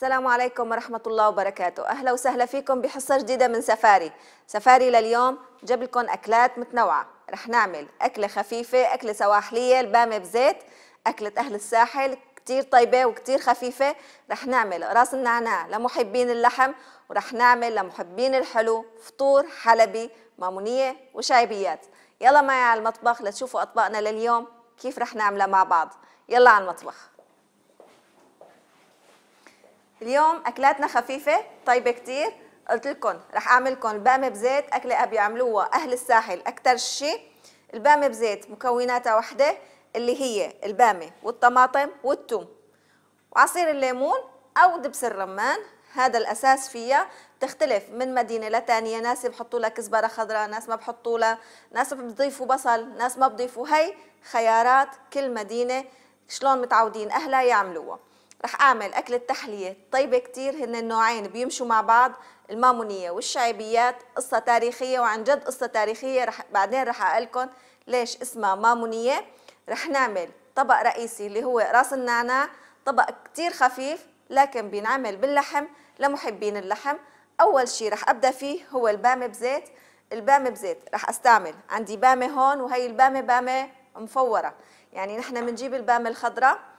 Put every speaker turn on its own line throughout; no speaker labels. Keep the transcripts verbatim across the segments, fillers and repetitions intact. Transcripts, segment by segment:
السلام عليكم ورحمة الله وبركاته. أهلا وسهلا فيكم بحصة جديدة من سفاري. سفاري لليوم جاب لكم أكلات متنوعة. رح نعمل أكلة خفيفة، أكلة سواحلية، البامة بزيت، أكلة أهل الساحل كتير طيبة وكتير خفيفة. رح نعمل راس النعناع لمحبين اللحم، ورح نعمل لمحبين الحلو فطور حلبي مامونية وشايبيات. يلا معي على المطبخ لتشوفوا أطباقنا لليوم كيف رح نعملها مع بعض. يلا على المطبخ. اليوم اكلاتنا خفيفه طيبه كتير. قلت لكم رح اعمل لكم البامه بزيت، اكله بيعملوها اهل الساحل اكثر شيء. البامه بزيت مكوناتها وحده اللي هي البامه والطماطم والثوم وعصير الليمون او دبس الرمان، هذا الاساس فيها. بتختلف من مدينه لثانيه، ناس بحطوا لها كزبره خضراء، ناس ما بحطوا لها، ناس بضيفوا بصل، ناس ما بضيفوا. هي خيارات كل مدينه شلون متعودين اهلها يعملوها. رح اعمل اكلة تحلية طيبة كتير، هن النوعين بيمشوا مع بعض، المامونية والشعيبيات. قصة تاريخية وعن جد قصة تاريخية، رح بعدين رح اقلكم ليش اسمها مامونية. رح نعمل طبق رئيسي اللي هو راس النعناع، طبق كتير خفيف لكن بينعمل باللحم لمحبين اللحم. اول شي رح ابدا فيه هو البامة بزيت. البامة بزيت رح استعمل عندي بامة هون، وهي البامة بامة مفورة، يعني نحن بنجيب البامة الخضراء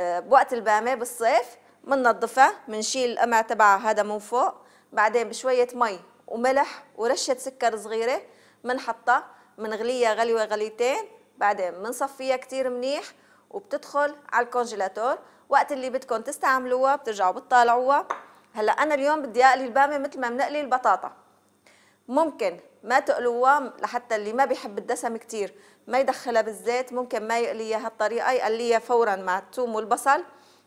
بوقت البامة بالصيف، مننظفها، منشيل القمع تبعها هذا من فوق، بعدين بشوية مي وملح ورشة سكر صغيرة منحطها، منغليها غلوة غليتين، بعدين منصفيها كتير منيح وبتدخل على الكونجيلاتور. وقت اللي بدكم تستعملوها بترجعوا بتطالعوها. هلا أنا اليوم بدي أقلي البامة مثل ما بنقلي البطاطا، ممكن ما تقلوها لحتى اللي ما بيحب الدسم كتير ما يدخلها بالزيت، ممكن ما يقليها هالطريقة، يقليها فورا مع الثوم والبصل،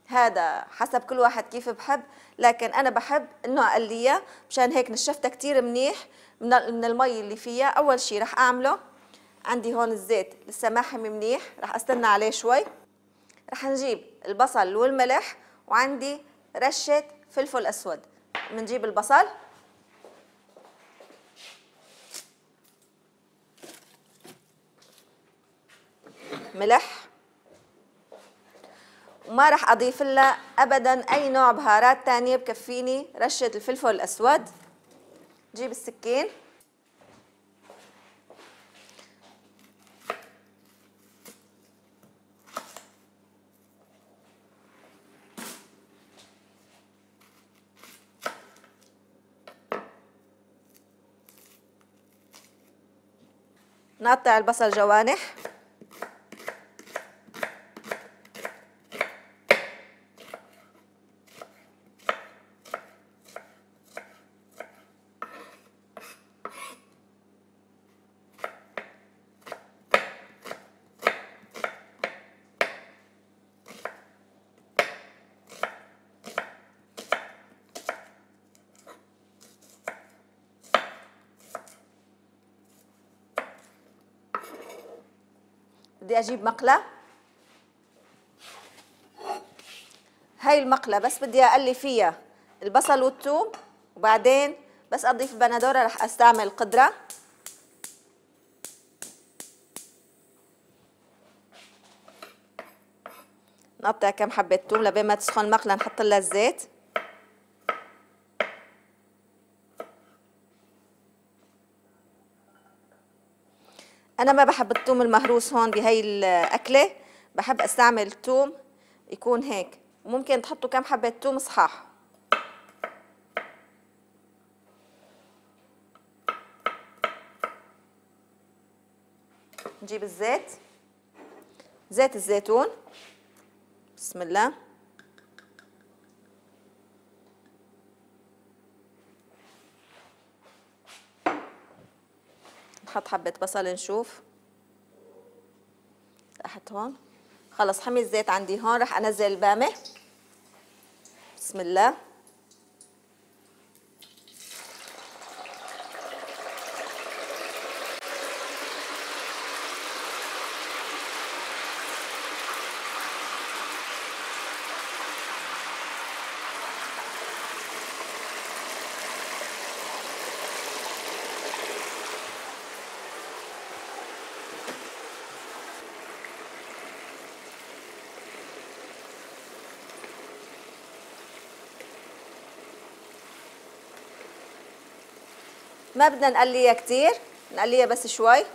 هذا حسب كل واحد كيف بحب. لكن أنا بحب إنه أقليها، مشان هيك نشفتها كتير منيح من المي اللي فيها. أول شي رح أعمله، عندي هون الزيت لسه ما حمي منيح، رح أستنى عليه شوي. رح نجيب البصل والملح، وعندي رشة فلفل أسود. بنجيب البصل، ملح، وما رح اضيف لها ابدا اي نوع بهارات تانية، بكفيني رشة الفلفل الاسود. جيب السكين، نقطع البصل جوانح، بدي اجيب مقلة. هاي المقلة بس بدي اقلي فيها البصل والثوم، وبعدين بس اضيف البندورة رح استعمل قدرة. نقطع كم حبة ثوم لبين ما تسخن المقلة نحط لها الزيت. أنا ما بحب الثوم المهروس هون بهي الأكلة، بحب أستعمل ثوم يكون هيك، وممكن تحطوا كم حبة ثوم صحاح. نجيب الزيت، زيت الزيتون، بسم الله. نحط حبة بصل نشوف، احط هون. خلص حمي الزيت عندي هون، رح انزل البامة، بسم الله. ما بدنا نقليها كتير، نقليها بس شوي.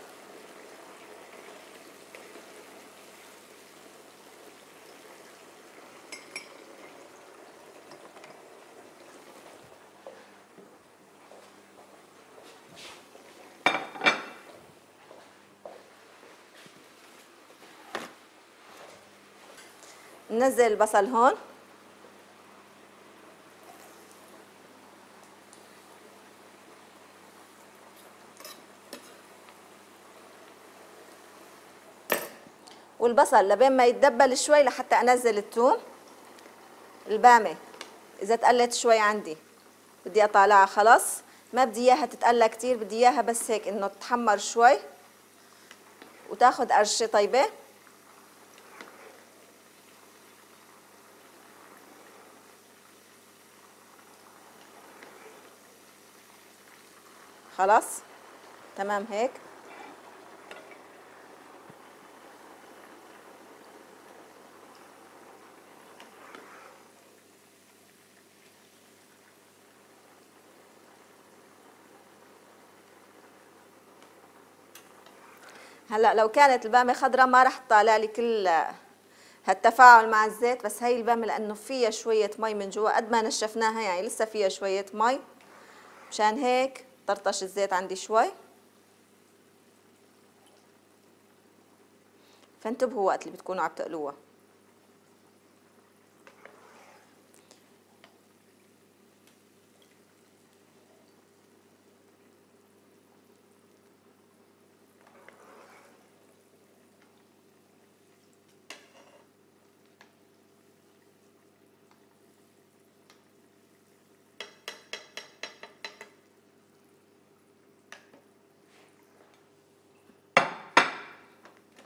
ننزل البصل هون. والبصل لبين ما يتدبل شوي لحتى انزل الثوم. البامه اذا تقلت شوي عندي بدي اطالعها خلص، ما بدي اياها تتقلى كتير، بدي اياها بس هيك انه تتحمر شوي وتاخد قرشه طيبه. خلاص تمام هيك. هلا لو كانت البامه خضراء ما راح تطالع لي كل هالتفاعل مع الزيت، بس هي البامه لانه فيها شويه مي من جوا قد ما نشفناها يعني لسه فيها شويه مي، مشان هيك طرطش الزيت عندي شوي. فانتبهوا وقت اللي بتكونوا عم تقلوها.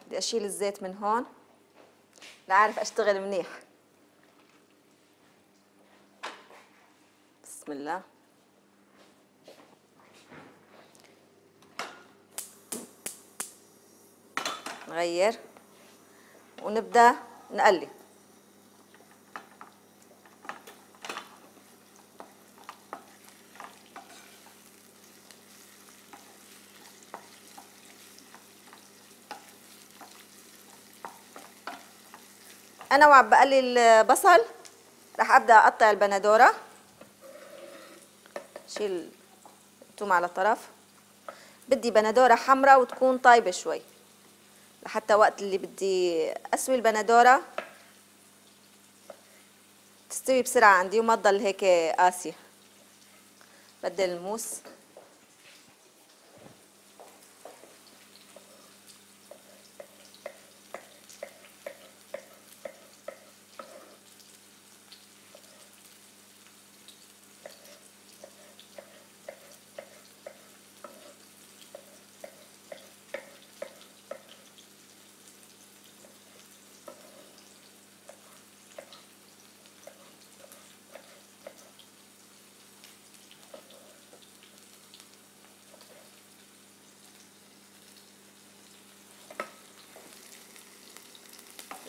بدي اشيل الزيت من هون لأعرف اشتغل منيح. بسم الله. نغير ونبدأ نقلي. أنا وعم بقلي البصل رح أبدأ أقطع البندورة. شيل الثوم على طرف. بدي بندورة حمراء وتكون طيبة شوي لحتى وقت اللي بدي أسوي البندورة تستوي بسرعة عندي وما تضل هيك قاسية. بدل الموس.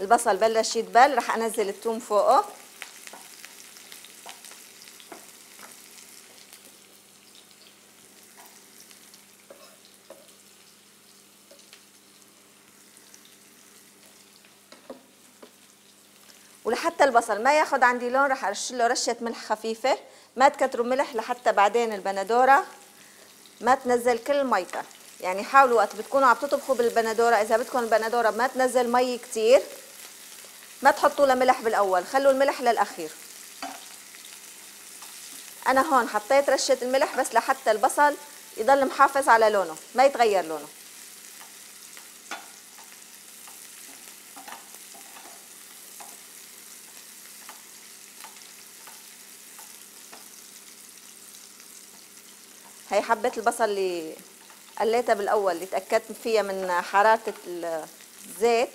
البصل بلش يدبل رح انزل الثوم فوقه. ولحتى البصل ما ياخد عندي لون رح ارش له رشه ملح خفيفه، ما تكتروا ملح لحتى بعدين البندوره ما تنزل كل ميتها. يعني حاولوا وقت بتكونوا عم تطبخوا بالبندوره اذا بدكم البندوره ما تنزل مي كتير ما تحطوا لها ملح بالاول، خلوا الملح للاخير. انا هون حطيت رشه الملح بس لحتى البصل يضل محافظ على لونه ما يتغير لونه. هي حبة البصل اللي قليتها بالاول اللي تاكدت فيها من حراره الزيت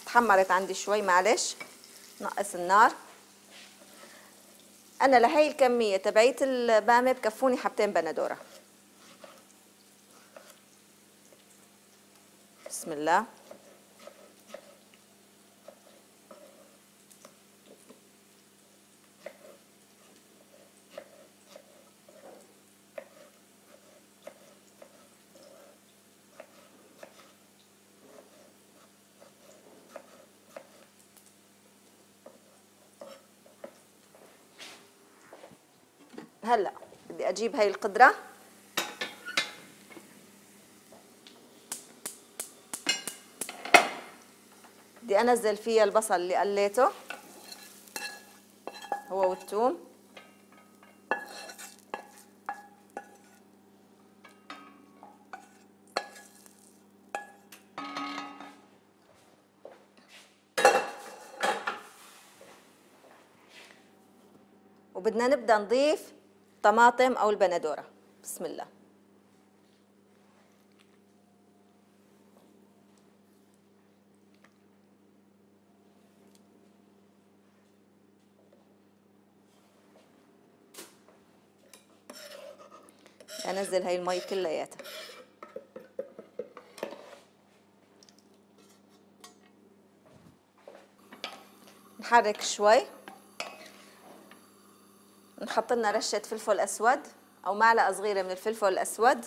تحمرت عندي شوي، معلش نقص النار. انا لهي الكميه تبعيت البامه بكفوني حبتين بندوره. بسم الله. هلا بدي اجيب هاي القدرة، بدي انزل فيها البصل اللي قليته هو والثوم، وبدنا نبدأ نضيف طماطم أو البندورة. بسم الله. أنزل هاي المي كلياتها. نحرك شوي، نحط لنا رشة فلفل أسود أو معلقة صغيرة من الفلفل الأسود،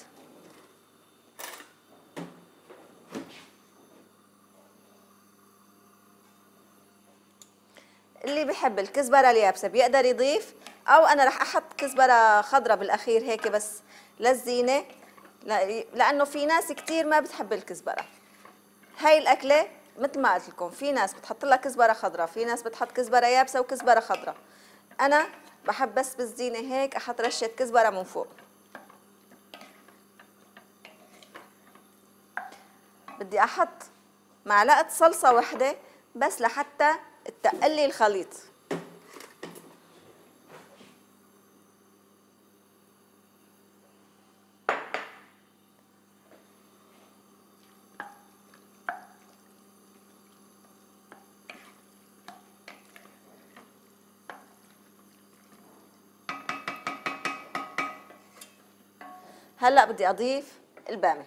اللي بحب الكزبرة اليابسة بيقدر يضيف، أو أنا رح أحط كزبرة خضرة بالأخير هيك بس للزينة، لأنه في ناس كتير ما بتحب الكزبرة. هاي الأكلة مثل ما قلت لكم في ناس بتحط لها كزبرة خضرة، في ناس بتحط كزبرة يابسة وكزبرة خضرة. أنا بحب بس بالزينة هيك أحط رشة كزبرة من فوق. بدي أحط معلقة صلصة واحدة بس لحتى تقلي الخليط. هلأ بدي أضيف البامي.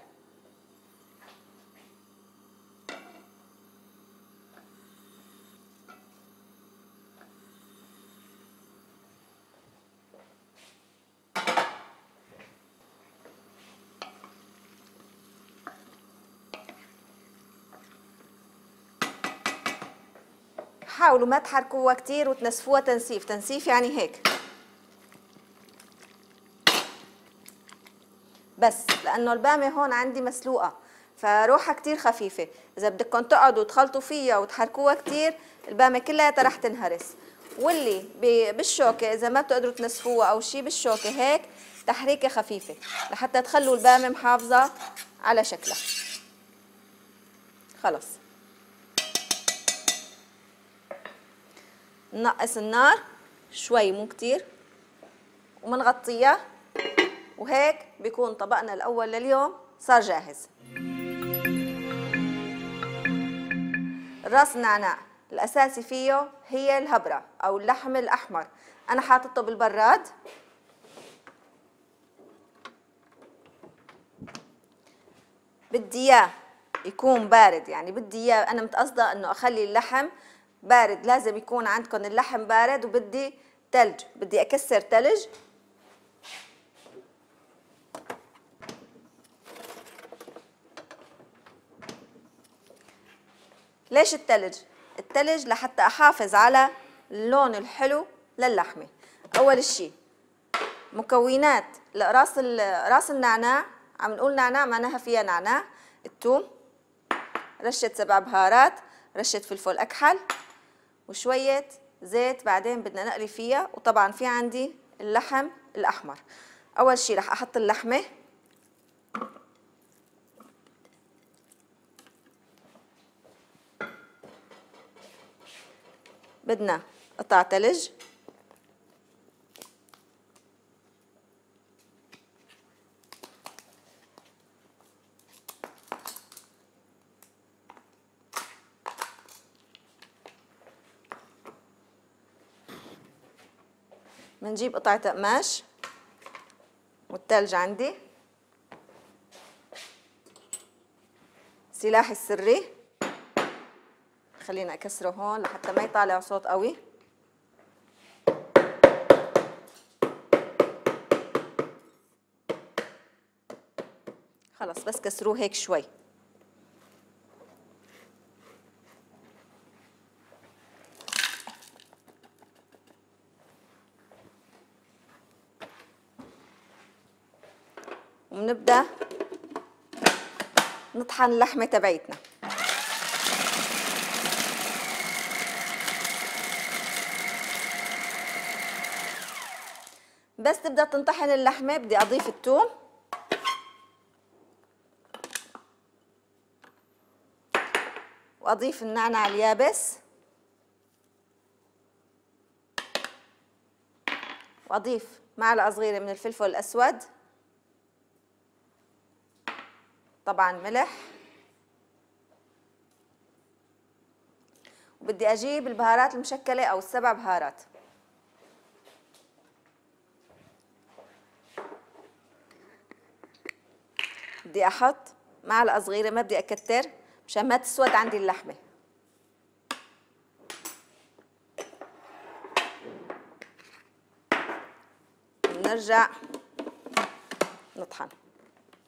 حاولوا ما تحركوها كتير وتنسفوها تنسيف، تنسيف يعني هيك بس، لأنه البامية هون عندي مسلوقة فروحها كتير خفيفة. إذا بدكم تقعدوا تخلطوا فيها وتحركوها كتير البامية كلها رح تنهرس. واللي بالشوكة إذا ما بتقدروا تنسفوها أو شي بالشوكة هيك تحريكة خفيفة لحتى تخلوا البامية محافظة على شكلها. خلص ننقص النار شوي مو كتير ومنغطيها، وهيك بيكون طبقنا الأول لليوم صار جاهز. راس النعناع الأساسي فيه هي الهبرة أو اللحم الأحمر، أنا حاطته بالبراد. بدي إياه يكون بارد، يعني بدي إياه أنا متقصدة إنه أخلي اللحم بارد، لازم يكون عندكم اللحم بارد. وبدي تلج، بدي أكسر تلج ليش التلج؟ التلج لحتى أحافظ على اللون الحلو للحمة. أول شيء مكونات راس راس النعناع، عم نقول نعناع معناها فيها نعناع، الثوم، رشة سبع بهارات، رشة فلفل أكحل، وشوية زيت بعدين بدنا نقلي فيها. وطبعا في عندي اللحم الأحمر. أول شيء رح أحط اللحمة، بدنا قطع ثلج، بنجيب قطعة قماش والثلج عندي، سلاحي السري خلينا أكسره هون لحتى ما يطالع صوت قوي. خلص بس كسروه هيك شوي. وبنبدأ نطحن اللحمة تبعتنا. بس تبدأ تنطحن اللحمة بدي أضيف الثوم وأضيف النعناع اليابس وأضيف معلقة صغيرة من الفلفل الأسود، طبعا ملح، وبدي أجيب البهارات المشكلة أو السبع بهارات. بدي أحط معلقة صغيرة، ما بدي أكتر مشان ما تسود عندي اللحمة. نرجع نطحن.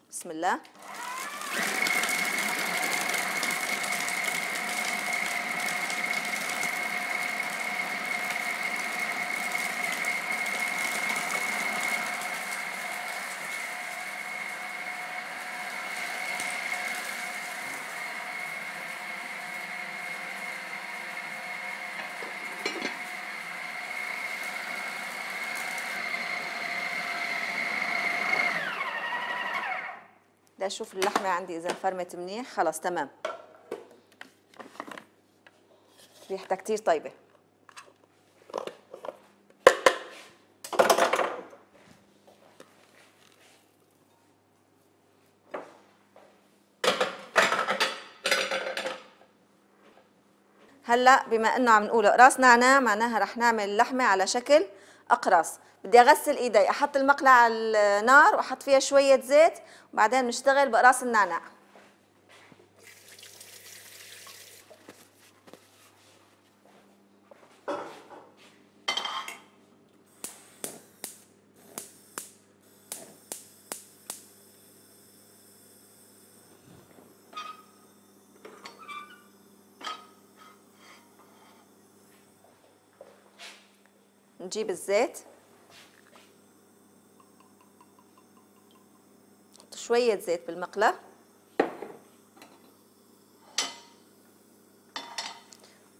بسم الله. بدي اشوف اللحمه عندي اذا فرمت منيح. خلص تمام، ريحتها كتير طيبه. هلا بما انه عم نقول اقراص نعناع، معناها رح نعمل اللحمه على شكل اقراص. بدي اغسل ايدي، احط المقلاة على النار واحط فيها شويه زيت وبعدين نشتغل باقراص النعناع. نجيب الزيت، نحط شوية زيت بالمقلاة،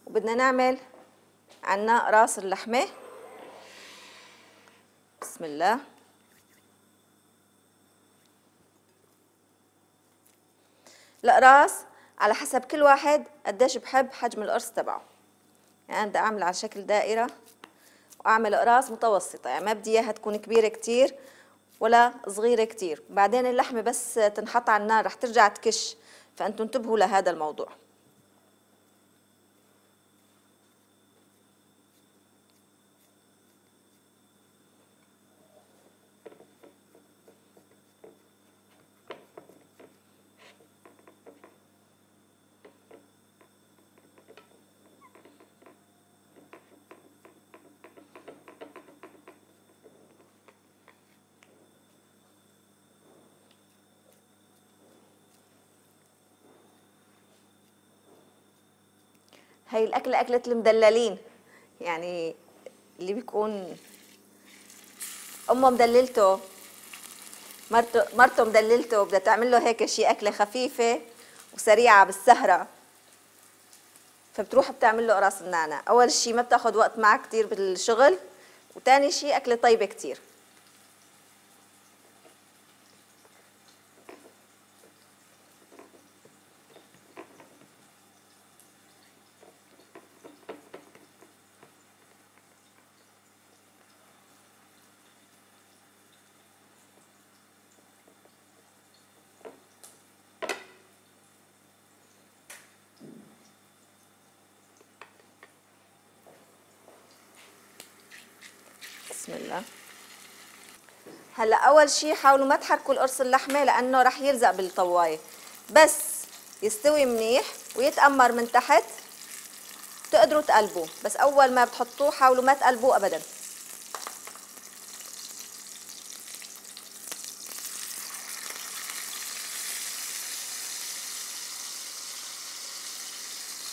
وبدنا نعمل عنا راس اللحمة. بسم الله. القراص على حسب كل واحد قديش بحب حجم القرص تبعه، يعني بدي اعمل على شكل دائرة واعمل اقراص متوسطه، يعني ما بدي اياها تكون كبيره كتير ولا صغيره كتير. بعدين اللحمه بس تنحط على النار رح ترجع تكش، فانتم انتبهوا لهذا الموضوع. هي الأكلة أكلة المدللين، يعني اللي بيكون أمه مدللته، مرته مرته مدللته، بدها تعمل له هيك شيء أكلة خفيفة وسريعة بالسهرة، فبتروح بتعمل له قراص النعناع. أول شيء ما بتاخذ وقت معك كتير بالشغل، وتاني شيء أكلة طيبة كتير. بسم الله. هلا اول شيء حاولوا ما تحركوا القرص اللحمه لانه رح يلزق بالطوايه، بس يستوي منيح ويتأمر من تحت تقدروا تقلبوه، بس اول ما بتحطوه حاولوا ما تقلبوه ابدا.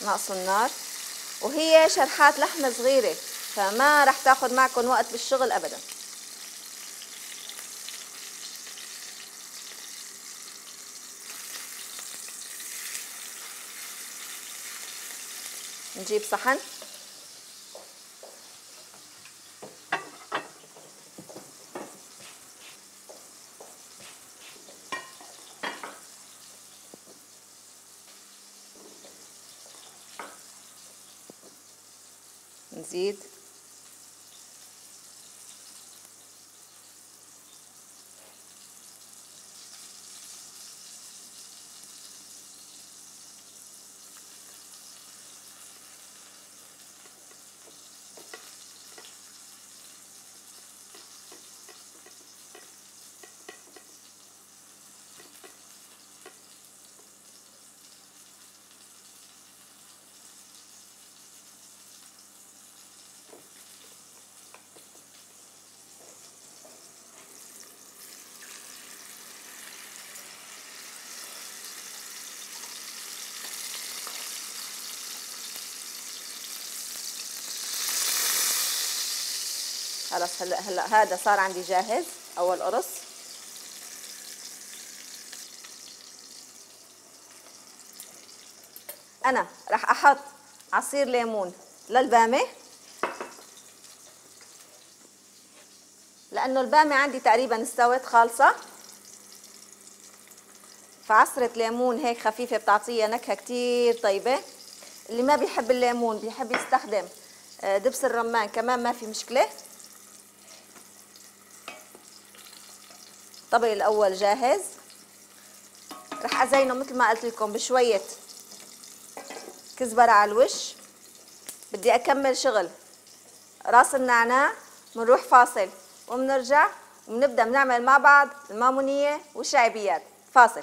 نقصوا النار، وهي شرحات لحمه صغيره فما رح تاخذ معكم وقت بالشغل ابدا. نجيب صحن. نزيد خلاص. هلا هلا هذا صار عندي جاهز اول قرص. انا راح احط عصير ليمون للبامه، لانه البامه عندي تقريبا استوت خالصه، فعصره ليمون هيك خفيفه بتعطيها نكهه كتير طيبه. اللي ما بيحب الليمون بيحب يستخدم دبس الرمان كمان ما في مشكله. الطبق الاول جاهز. رح ازينه مثل ما قلت لكم بشويه كزبره على الوش. بدي اكمل شغل راس النعناع، بنروح فاصل وبنرجع وبنبدا بنعمل مع بعض المامونيه والشعبيات. فاصل.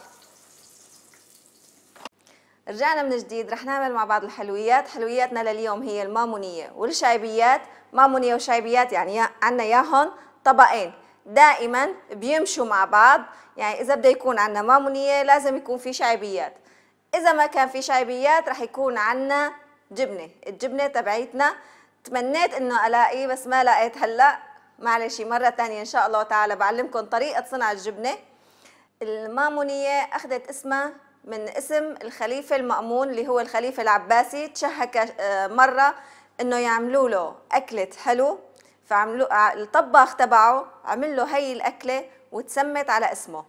رجعنا من جديد. رح نعمل مع بعض الحلويات. حلوياتنا لليوم هي المامونيه والشعبيات. مامونيه وشعبيات يعني عنا ياهن طبقين دائما بيمشوا مع بعض. يعني اذا بده يكون عنا مامونيه لازم يكون في شعبيات. اذا ما كان في شعبيات رح يكون عنا جبنه. الجبنه تبعيتنا تمنيت انه الاقي بس ما لقيت هلا. معلش مره ثانيه ان شاء الله تعالى بعلمكم طريقه صنع الجبنه. المامونيه اخذت اسمها من اسم الخليفه المأمون اللي هو الخليفه العباسي. تشهك مره انه يعملوا له اكله حلو، فعملوا الطباخ تبعه عمل له هي الاكله وتسمت على اسمه.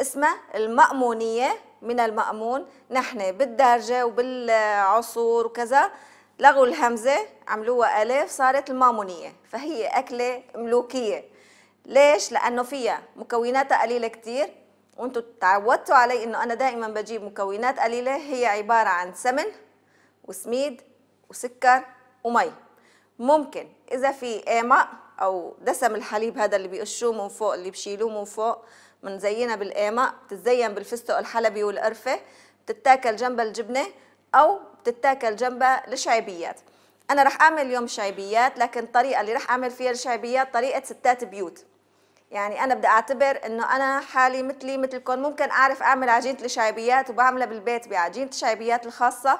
اسمها المأمونيه من المأمون. نحن بالدارجه وبالعصور وكذا لغوا الهمزه عملوها الف صارت المامونيه. فهي اكله ملوكيه. ليش؟ لانه فيها مكوناتها قليله كتير، وانتم تعودتوا علي انه انا دائما بجيب مكونات قليله. هي عباره عن سمن وسميد وسكر ومي. ممكن اذا في قامق او دسم الحليب هذا اللي بيقشوه من فوق اللي بشيلوه من فوق بنزينها بالقامق. بتتزين بالفستق الحلبي والقرفه. بتتاكل جنبها الجبنه او بتتاكل جنبها الشعبيات. انا رح اعمل اليوم شعبيات، لكن الطريقه اللي رح اعمل فيها الشعبيات طريقه ستات بيوت. يعني انا بدي اعتبر انه انا حالي مثلي مثلكم. ممكن اعرف اعمل عجينه الشعبيات وبعملها بالبيت بعجينه الشعبيات الخاصه،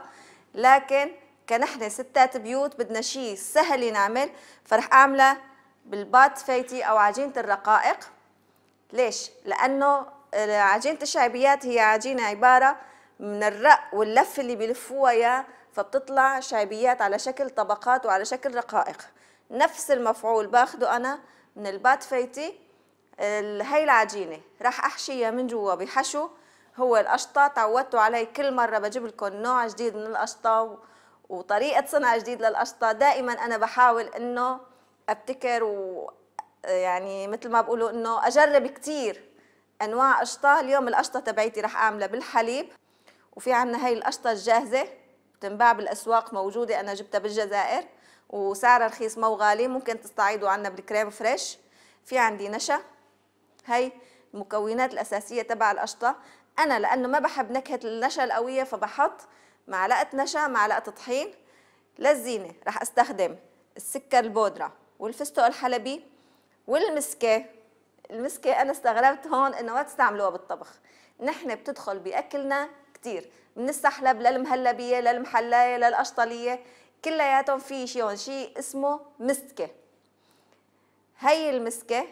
لكن كنحن ستات بيوت بدنا شيء سهل نعمل، فرح اعملها بالبات فايتي او عجينه الرقائق. ليش؟ لانه عجينه الشعبيات هي عجينه عباره من الرق واللف اللي بيلفوها اياه، فبتطلع شعبيات على شكل طبقات وعلى شكل رقائق. نفس المفعول باخده انا من البات فايتي. هي العجينه راح احشيها من جوا بحشو هو القشطه. تعودتوا علي كل مره بجيب لكم نوع جديد من القشطه وطريقه صنع جديد للقشطه. دائما انا بحاول انه ابتكر و يعني مثل ما بقولوا انه اجرب كثير انواع قشطه. اليوم القشطه تبعيتي راح اعملها بالحليب، وفي عندنا هي القشطه الجاهزه بتنباع بالاسواق موجوده. انا جبتها بالجزائر وسعرها رخيص مو غالي. ممكن تستعيضوا عنا بالكريم فريش. في عندي نشا. هي المكونات الاساسيه تبع القشطه. انا لانه ما بحب نكهه النشا القويه فبحط معلقه نشا معلقه طحين. للزينه راح استخدم السكر البودره والفستق الحلبي والمسكه. المسكه انا استغربت هون انه ما تستعملوها بالطبخ. نحن بتدخل باكلنا كثير، من السحلب للمهلبيه للمحلايه للقشطليه كلياتهم في شيء شيء اسمه مسكه. هي المسكه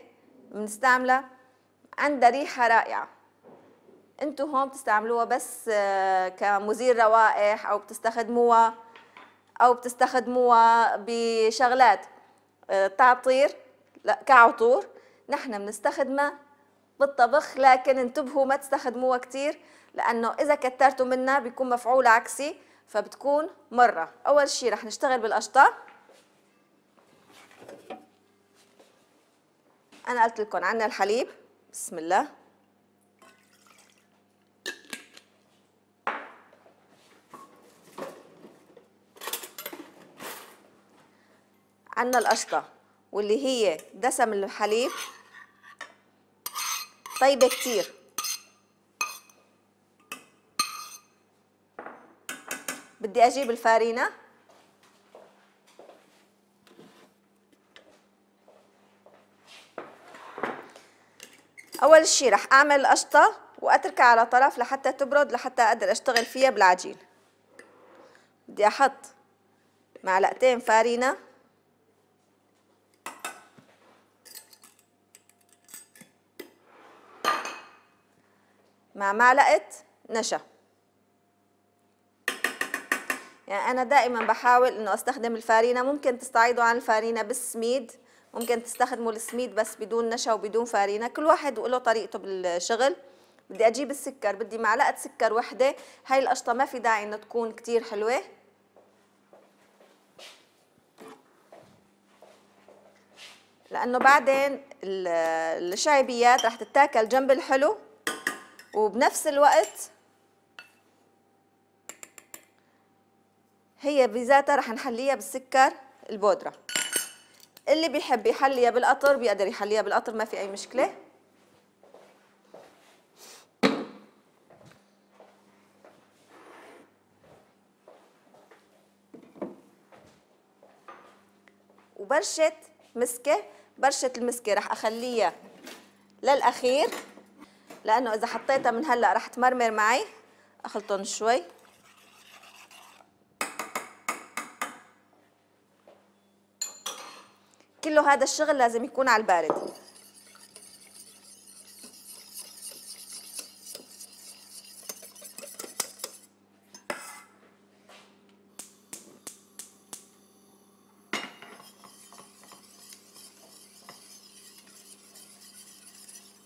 بنستعملها عندها ريحه رائعه. انتم هون بتستعملوها بس كمزيل روائح او بتستخدموها أو بتستخدموها بشغلات تعطير كعطور، نحن بنستخدمها بالطبخ، لكن انتبهوا ما تستخدموها كتير لأنه إذا كترتوا منها بيكون مفعول عكسي فبتكون مرة. أول شي رح نشتغل بالقشطة. أنا قلت لكم عنا الحليب، بسم الله. عنا القشطة واللي هي دسم الحليب طيبة كتير. بدي أجيب الفارينة. أول شي رح أعمل القشطة وأتركها على طرف لحتى تبرد لحتى أقدر أشتغل فيها بالعجين. بدي أحط معلقتين فارينة مع معلقة نشا. يعني أنا دائما بحاول إنه أستخدم الفارينة، ممكن تستعيضوا عن الفارينة بالسميد، ممكن تستخدموا السميد بس بدون نشا وبدون فارينة، كل واحد وله طريقته بالشغل. بدي أجيب السكر، بدي معلقة سكر وحدة. هاي القشطة ما في داعي إنه تكون كتير حلوة، لأنه بعدين الشعبيات رح تتاكل جنب الحلو، وبنفس الوقت هي بذاتها رح نحليها بالسكر البودرة. اللي بيحب يحليها بالقطر بيقدر يحليها بالقطر، ما في أي مشكلة. وبرشة مسكة، برشة المسكة رح أخليها للأخير لأنه إذا حطيتها من هلأ رح تمرمر معي. أخلطهم شوي. كله هذا الشغل لازم يكون على البارد.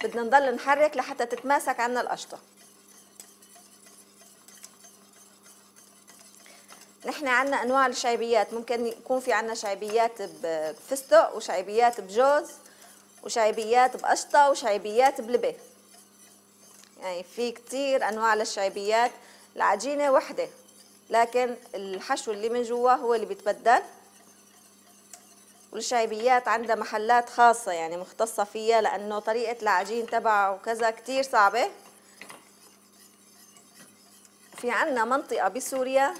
بدنا نضل نحرك لحتى تتماسك عنا القشطة. نحن عنا انواع الشعبيات، ممكن يكون في عنا شعبيات بفستق وشعبيات بجوز وشعبيات بقشطة وشعبيات بلبن. يعني في كتير انواع للشعبيات، العجينة وحدة لكن الحشو اللي من جوا هو اللي بيتبدل. والشعبيات عندها محلات خاصة يعني مختصة فيها، لأنه طريقة العجين تبعها وكذا كتير صعبة. في عنا منطقة بسوريا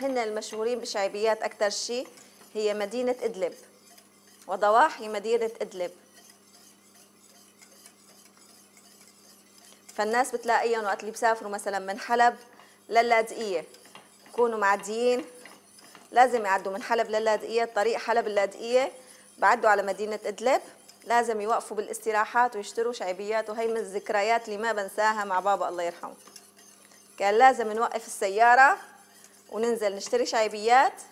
هن المشهورين بالشعبيات أكتر شيء، هي مدينة إدلب وضواحي مدينة إدلب. فالناس بتلاقيهم وقت اللي بسافروا مثلا من حلب للاذقية بكونوا معديين، لازم يعدوا من حلب للاذقية، طريق حلب اللاذقية بعدوا على مدينة إدلب، لازم يوقفوا بالاستراحات ويشتروا شعبيات. وهي من الذكريات اللي ما بنساها مع بابا الله يرحمه، كان لازم نوقف السيارة وننزل نشتري شعبيات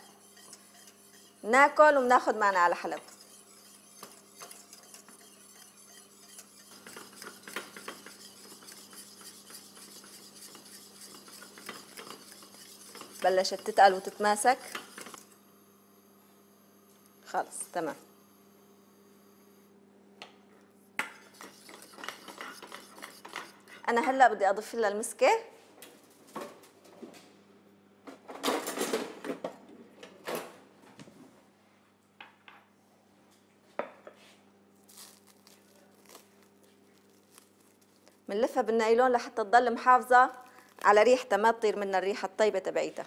ناكل وبناخد معنا على حلب. بلشت تتقل وتتماسك خلص تمام. انا هلا بدي اضيف لها المسكه. بنلفها بالنايلون لحتى تضل محافظه على ريحتها، ما تطير منها الريحه الطيبه تبعيتها.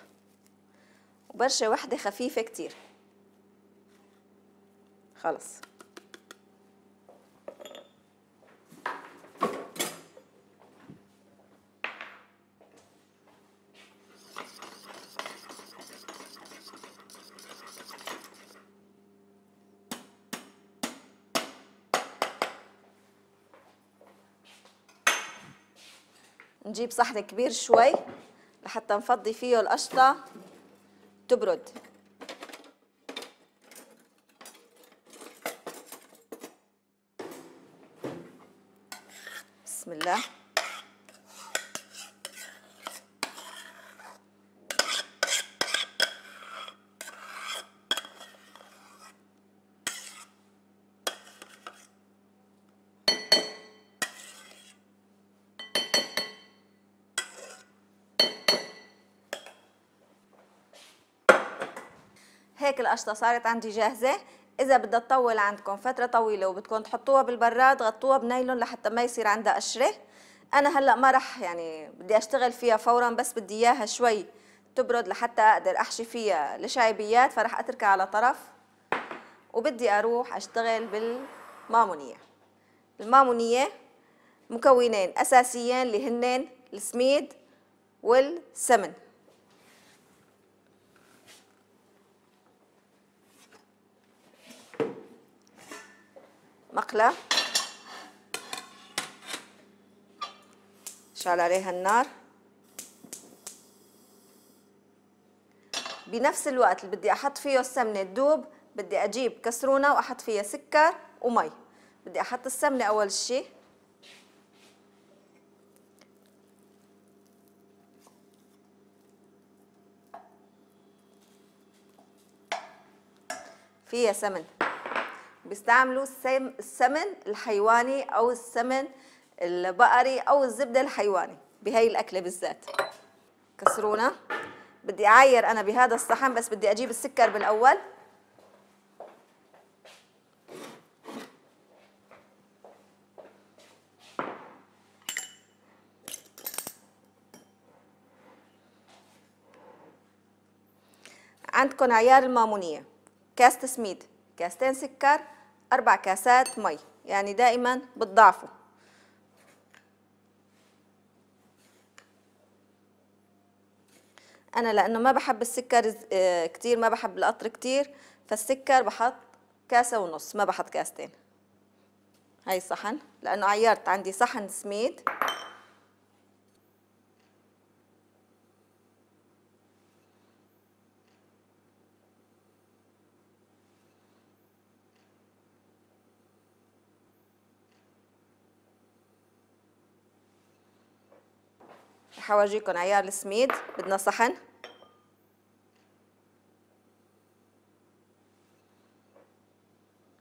وبرشه وحده خفيفه كتير خلص. نجيب صحن كبير شوي لحتى نفضي فيه القشطة تبرد. بسم الله. هيك القشطة صارت عندي جاهزة. إذا بدها تطول عندكم فترة طويلة وبدكم تحطوها بالبراد، غطوها بنايلون لحتى ما يصير عندها قشرة. أنا هلأ ما رح يعني بدي أشتغل فيها فوراً، بس بدي إياها شوي تبرد لحتى أقدر أحشي فيها الشعيبيات، فرح أتركها على طرف وبدي أروح أشتغل بالمامونية. المامونية مكونين أساسيين اللي هنن السميد والسمن. مقلة شعل عليها النار. بنفس الوقت اللي بدي احط فيه السمنه تدوب، بدي اجيب كسرونه واحط فيها سكر ومي. بدي احط السمنه اول شيء، فيها سمن. بيستعملوا السمن الحيواني او السمن البقري او الزبده الحيواني بهي الاكله بالذات. كسرونه. بدي اعاير انا بهذا الصحن، بس بدي اجيب السكر بالاول. عندكم عيار المامونيه، كاسة سميد، كاستين سكر، أربع كاسات مي، يعني دائما بتضاعفوا. أنا لأنه ما بحب السكر كتير، ما بحب القطر كتير، فالسكر بحط كاسة ونص، ما بحط كاستين. هاي صحن، لأنه عيرت عندي صحن سميد. رح أورجيكم عيار السميد. بدنا صحن،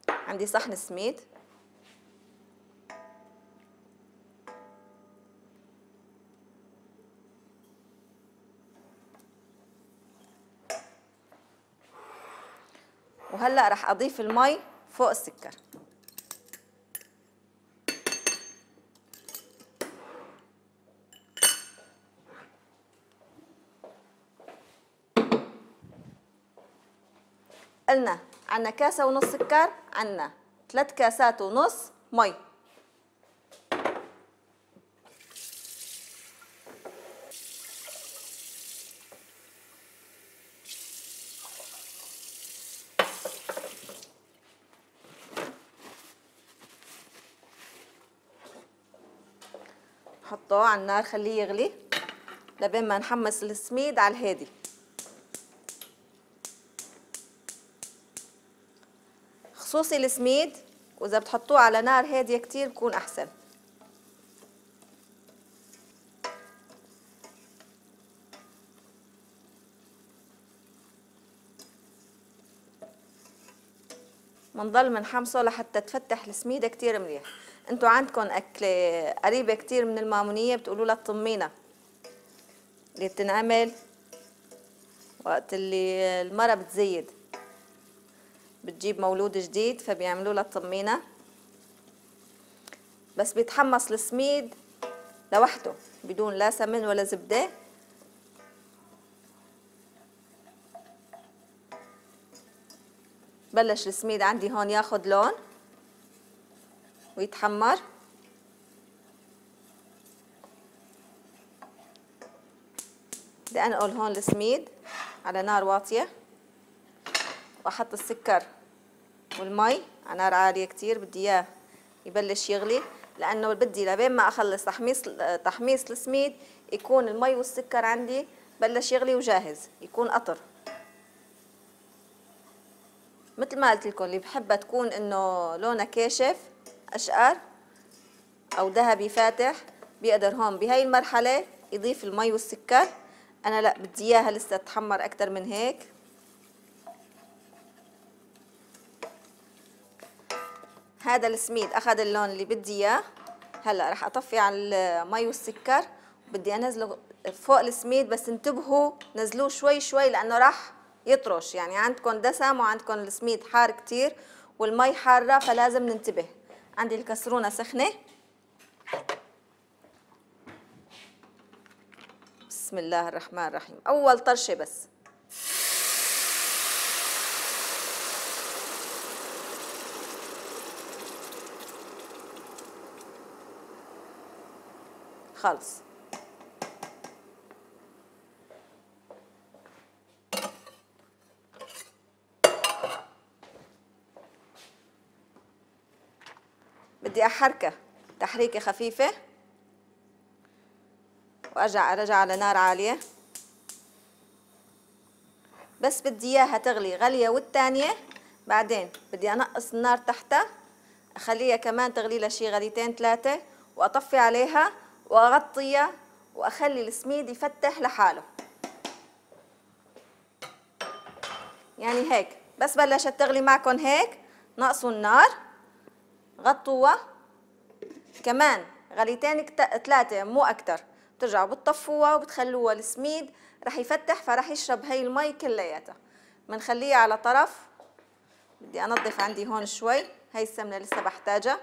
عندي صحن سميد، وهلأ رح أضيف المي فوق السكر. قلنا عنا كاسة ونص سكر، عنا ثلاث كاسات ونص مي. حطوه على النار، خليه يغلي لبين ما نحمص السميد على الهادي. خصوصي السميد، واذا بتحطوه على نار هاديه كتير بكون احسن. منضل منحمصه لحتى تفتح السميده كتير منيح. انتوا عندكم اكله قريبه كتير من المامونيه بتقولوا لها الطمينه، اللي بتنعمل وقت اللي المرة بتزيد، بتجيب مولود جديد فبيعملوا لها الطمينة، بس بيتحمص السميد لوحده بدون لا سمن ولا زبدة. بلش السميد عندي هون ياخد لون ويتحمر. بدي انقل هون السميد على نار واطية، واحط السكر والمي على نار عالية كتير. بدي اياه يبلش يغلي، لانه بدي لبين ما اخلص تحميص تحميص السميد يكون المي والسكر عندي بلش يغلي وجاهز، يكون قطر. مثل ما قلت لكم، اللي بحبها تكون انه لونها كاشف اشقر او ذهبي فاتح بيقدر هون بهاي المرحله يضيف المي والسكر. انا لا، بدي اياها لسه تحمر اكثر من هيك. هذا السميد اخذ اللون اللي بدي اياه. هلا رح اطفي على المي والسكر، بدي انزله فوق السميد، بس انتبهوا نزلوه شوي شوي لانه راح يطرش. يعني عندكم دسم وعندكم السميد حار كتير والمي حاره، فلازم ننتبه. عندي الكسرونه سخنه. بسم الله الرحمن الرحيم. اول طرشه بس. خلص. بدي احركه تحريكه خفيفه وارجع ارجع على نار عاليه. بس بدي اياها تغلي غليه والثانيه بعدين بدي انقص النار تحتها، اخليها كمان تغلي لها شي غليتين ثلاثه، واطفي عليها واغطيها واخلي السميد يفتح لحاله. يعني هيك بس بلشت تغلي معكم هيك نقصوا النار، غطوها كمان غليتين ثلاثه مو اكثر، بترجعوا بتطفوها وبتخلوها السميد رح يفتح، فرح يشرب هي المي كلياتها. بنخليها على طرف. بدي انظف عندي هون شوي، هي السمنه لسه بحتاجها.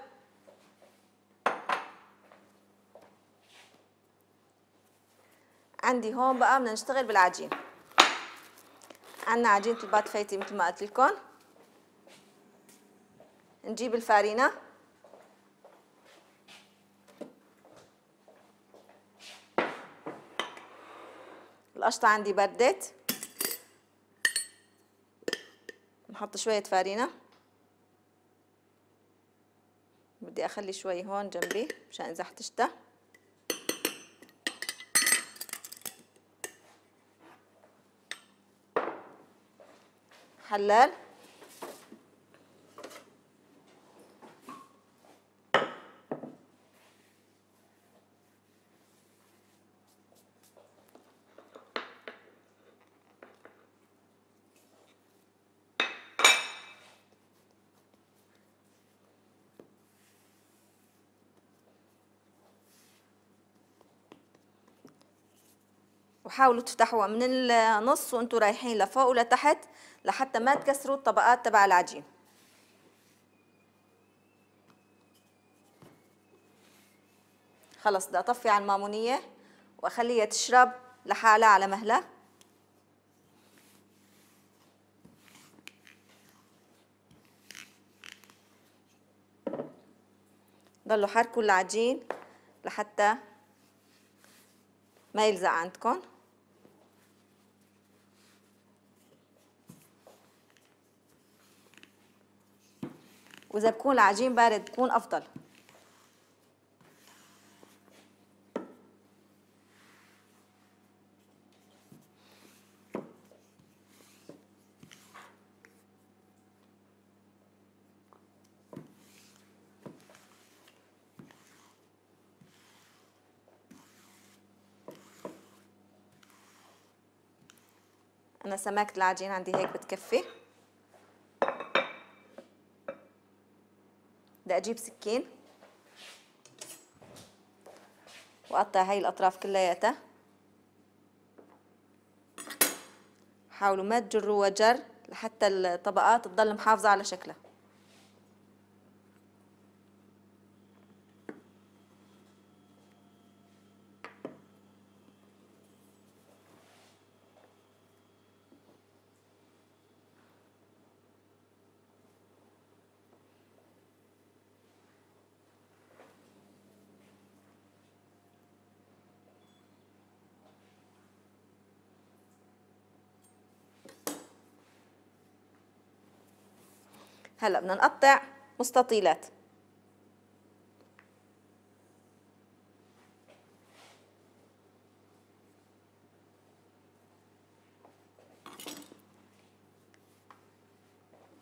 عندي هون بقى بدنا نشتغل بالعجين. عندنا عجينه البات فايتي مثل ما قلت لكم. نجيب الفارينه، القشطه عندي بردت، نحط شويه فارينه. بدي اخلي شوي هون جنبي مشان اذا احتجتها. حلال، وحاولوا تفتحوها من النص وانتوا رايحين لفوق ولتحت لحتى ما تكسروا الطبقات تبع العجين. خلص بدي اطفي على المامونيه واخليها تشرب لحالها على مهلها. ضلوا حركوا العجين لحتى ما يلزق عندكم. واذا بكون العجين بارد بكون افضل. انا سمكت العجين عندي هيك بتكفي. بدي اجيب سكين واقطع هاي الاطراف كلياتها. حاولوا ما تجروها جر لحتى الطبقات تضل محافظة على شكلها. هلا بدنا نقطع مستطيلات.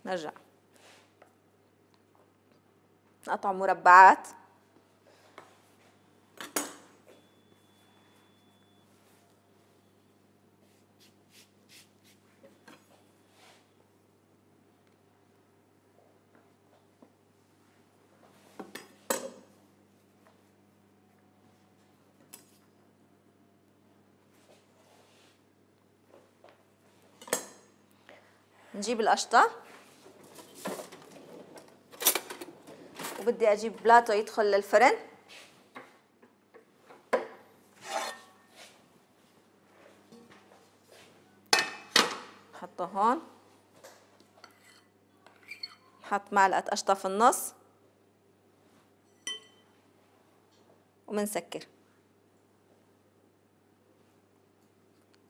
نرجع نقطع مربعات. نجيب القشطة وبدي اجيب بلاطو يدخل للفرن. نحطه هون، نحط معلقة قشطة في النص ومنسكر،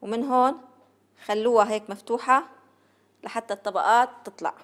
ومن هون خلوها هيك مفتوحة لحتى الطبقات تطلع.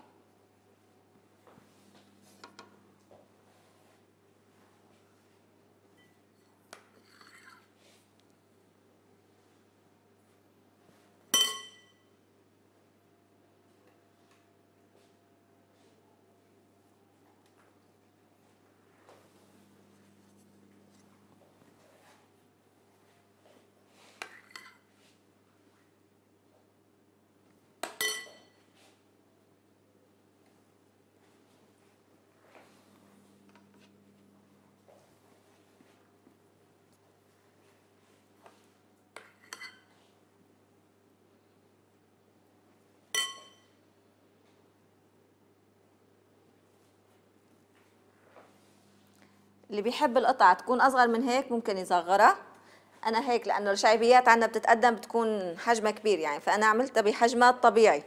اللي بيحب القطعة تكون أصغر من هيك ممكن يصغرها. أنا هيك لأنه الشعبيات عندنا بتتقدم بتكون حجمها كبير يعني، فأنا عملتها بحجمها الطبيعي.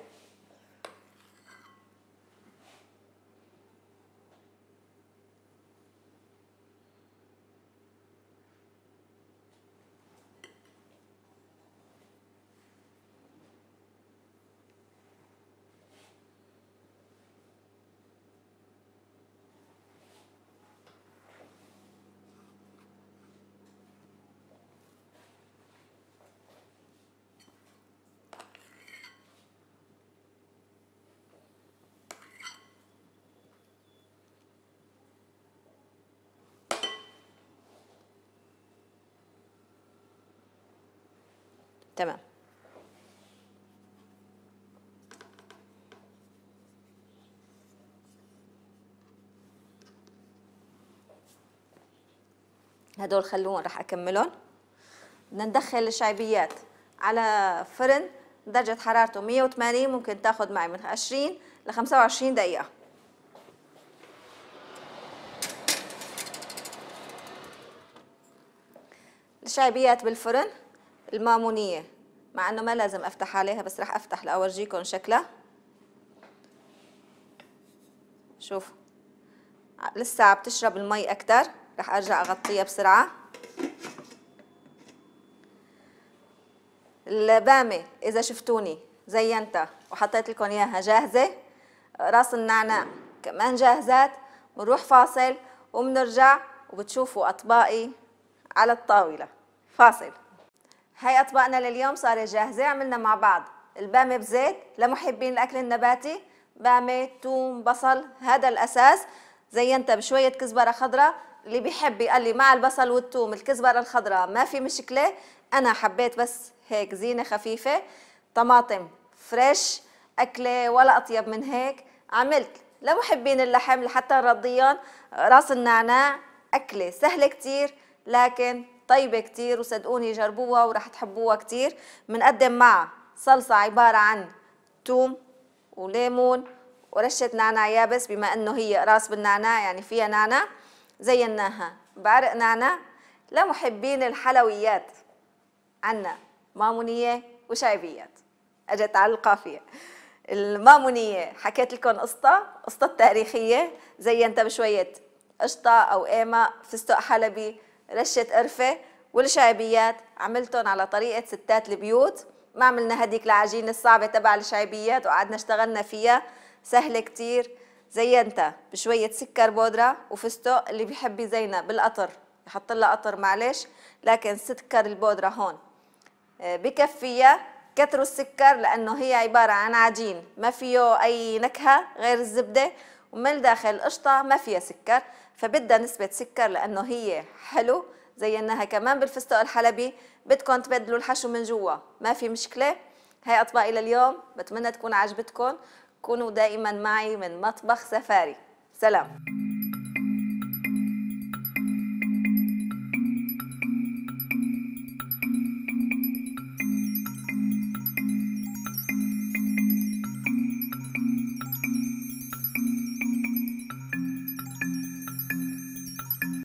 تمام. هدول خلوهم رح اكملهم. بدنا ندخل الشعبيات على فرن درجة حرارته مية وثمانين، ممكن تاخذ معي من عشرين ل خمسة وعشرين دقيقة. الشعبيات بالفرن المامونية، مع انه ما لازم افتح عليها بس رح افتح لاورجيكم شكلها. شوفوا لسه عم تشرب المي اكتر، رح ارجع اغطيها بسرعة. البامة اذا شفتوني زينتها وحطيت لكم اياها جاهزة. راس النعناع كمان جاهزات. بنروح فاصل وبنرجع وبتشوفوا اطباقي على الطاولة. فاصل. هاي اطباقنا لليوم صارت جاهزة. عملنا مع بعض البامة بزيت لمحبين الاكل النباتي، بامة، توم، بصل، هذا الاساس. زينتها بشوية كزبرة خضراء، اللي بيحب يقلي مع البصل والثوم الكزبرة الخضراء ما في مشكلة، انا حبيت بس هيك زينة خفيفة. طماطم فريش، اكلة ولا اطيب من هيك. عملت لمحبين اللحم لحتى نرضيهم راس النعناع. اكلة سهلة كتير لكن طيبة كتير، وصدقوني جربوها ورح تحبوها كتير. بنقدم معها صلصة عبارة عن توم وليمون ورشة نعناع يابس، بما انه هي راس بالنعناع يعني فيها نعناع. زيناها بعرق نعناع. لمحبين الحلويات عنا مامونية وشعبيات. اجت على القافية. المامونية حكيت لكم قصة قصة تاريخية، زينتها بشوية قشطة او قيمة، فستق حلبي، رشة قرفة. والشعبيات عملتهم على طريقة ستات البيوت، ما عملنا هديك العجينة الصعبة تبع الشعبيات وقعدنا اشتغلنا فيها، سهلة كتير. زينتها بشوية سكر بودرة وفستق، اللي بيحب يزينها بالقطر يحط لها قطر معلش، لكن سكر البودرة هون بكفيها. كتروا السكر لأنه هي عبارة عن عجين ما فيه أي نكهة غير الزبدة، ومن داخل قشطة ما فيها سكر، فبدها نسبة سكر لأنه هي حلو. زيناها كمان بالفستق الحلبي. بدكم تبدلوا الحشو من جوا ما في مشكلة. هاي أطباقي لليوم، بتمنى تكون عجبتكم. كونوا دائما معي من مطبخ سفاري. سلام.